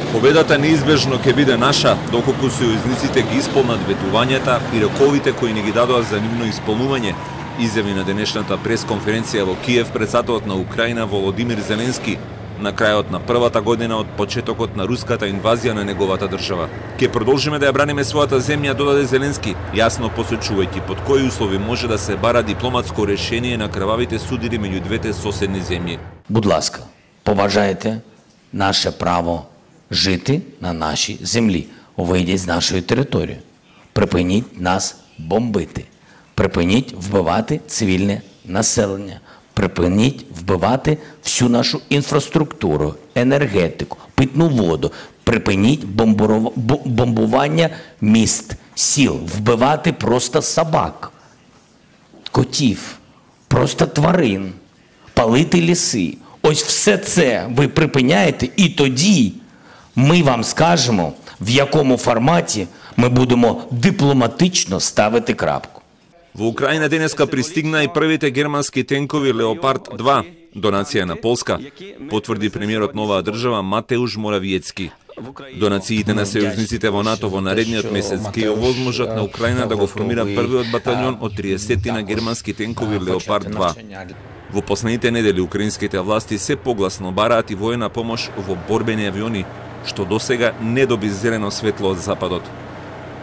Победата неизбежно ќе биде наша, доколку сојузниците ги исполнат ветувањата и роковите кои не ги дадоа за нивно исполнување, изјави на денешната пресконференција во Киев претседателот на Украина Володимир Зеленски на крајот на првата година од почетокот на руската инвазија на неговата држава. Ке продолжиме да ја браниме својата земја, додаде Зеленски, јасно посочувајќи под кои услови може да се бара дипломатско решение на крвавите судири меѓу двете соседни земји. Будь ласка, поважајте наше право жити на нашій землі, вийдіть з нашої території, припиніть нас бомбити, припиніть вбивати цивільне населення, припиніть вбивати всю нашу інфраструктуру, енергетику, питну воду, припиніть бомбування міст, сіл, вбивати просто собак, котів, просто тварин, палити ліси. Ось все це ви припиняєте, і тоді ми вам скажемо, в якому форматі ми будемо дипломатично ставити крапку. Во Украина денеска пристигна и првите германски тенкови Леопард 2, донација на Полска, потврди премиерот на оваа држава Матеуш Моравиецки. Донациите на сојузниците во НАТО во наредниот месец ќе овозможат на Украина да го формира првиот батальон од 30 на германски тенкови Леопард 2. Во последните недели украинските власти се погласно бараат и воена помош во борбени авиони, што досега не доби зелено светло од Западот.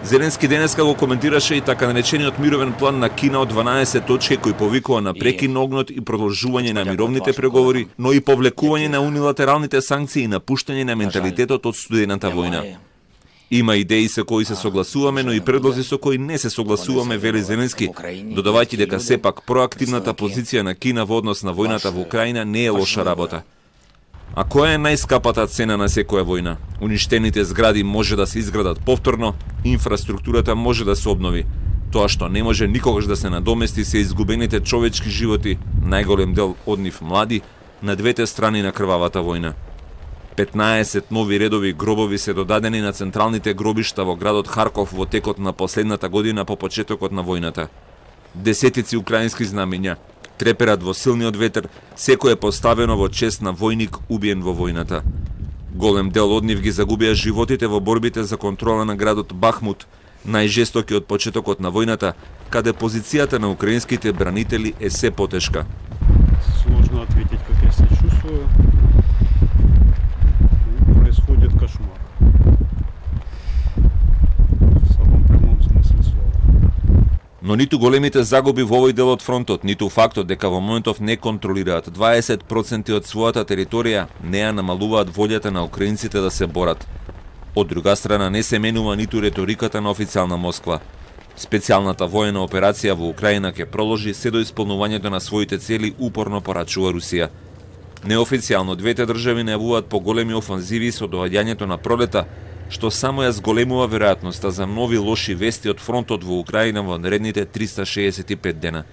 Зеленски денеска го коментираше и така наречениот мировен план на Кина од 12 точки кој повикува на прекин на огнот и продолжување на мировните преговори, но и повлекување на унилатералните санкции и напуштање на менталитетот од студената војна. Има идеи со кои се согласуваме, но и предлози со кои не се согласуваме, вели Зеленски, додавајќи дека сепак проактивната позиција на Кина во однос на војната во Украина не е лоша работа. А која е најскапата цена на секоја војна? Уништените згради може да се изградат повторно, инфраструктурата може да се обнови. Тоа што не може никогаш да се надомести се изгубените човечки животи, најголем дел од нив млади, на двете страни на крвавата војна. 15 нови редови гробови се додадени на централните гробишта во градот Харков во текот на последната година по почетокот на војната. Десетици украински знамења треперат во силниот ветер, секој е поставено во чест на војник убиен во војната. Голем дел од нив ги загубија животите во борбите за контрола на градот Бахмут, најжестоки од почетокот на војната, каде позицијата на украинските бранители е се потешка. Сложно ответить, как я се чувствую. Происходит кошмар. В самом прямом смысле слова. Но ниту големите загуби во овој дел од фронтот, ниту фактот дека во моментов не контролираат 20% од својата територија, не ја намалуваат волјата на украинците да се борат. Од друга страна не се менува ниту реториката на официјална Москва. Специјалната воена операција во Украина ќе продолжи се до исполнувањето на своите цели, упорно порачува Русија. Неофицијално двете држави најавуваат поголеми офанзиви со доаѓањето на пролета, што само ја зголемува веројатноста за нови лоши вести од фронтот во Украина во наредните 365 дена.